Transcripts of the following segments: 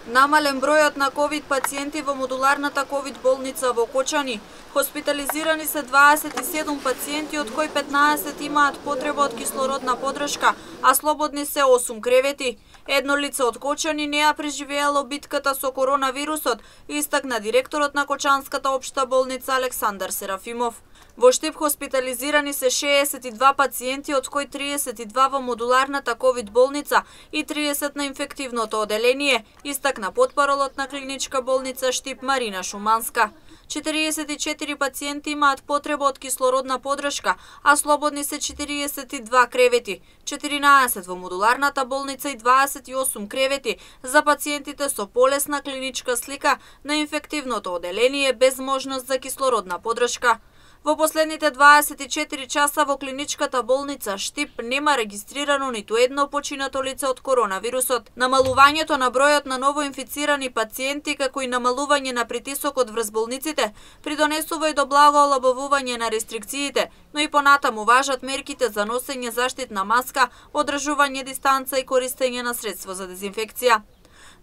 Намален бројот на ковид пациенти во модуларната ковид болница во Кочани. Хоспитализирани се 27 пациенти, од кои 15 имаат потреба од кислородна подршка, а слободни се 8 кревети. Едно лице од Кочани не ја преживеало битката со коронавирусот, истакна директорот на Кочанската општа болница Александар Серафимов. Во Штип хоспитализирани се 62 пациенти, од кои 32 во модуларната ковид болница и 30 на инфективното оделение, истакна потпаролот на клиничка болница Штип Марина Шуманска. 44 пациенти имаат потреба од кислородна подршка, а слободни се 42 кревети, 14 во модуларната болница и 28 кревети за пациентите со полесна клиничка слика на инфективното оделение без можност за кислородна подршка. Во последните 24 часа во клиничката болница Штип нема регистрирано ниту едно починато лице од коронавирусот. Намалувањето на бројот на новоинфицирани пациенти, како и намалување на притисокот врз болниците, придонесува и до благо олабавување на рестрикциите, но и понатаму важат мерките за носење заштитна маска, одржување дистанца и користење на средство за дезинфекција.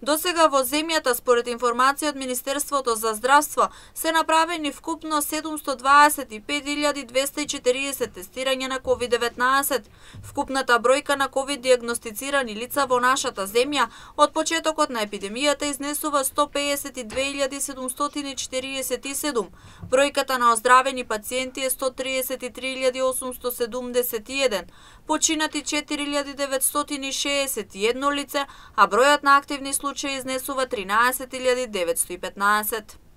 Досега во земјата, според информација од Министерството за здравство, се направени вкупно 725.240 тестирања на COVID-19. Вкупната бројка на COVID диагностицирани лица во нашата земја од почетокот на епидемијата изнесува 152.747. Бројката на оздравени пациенти е 133.871. Починати 4.961 лице, а бројот на активни случаи изнесува 13.915.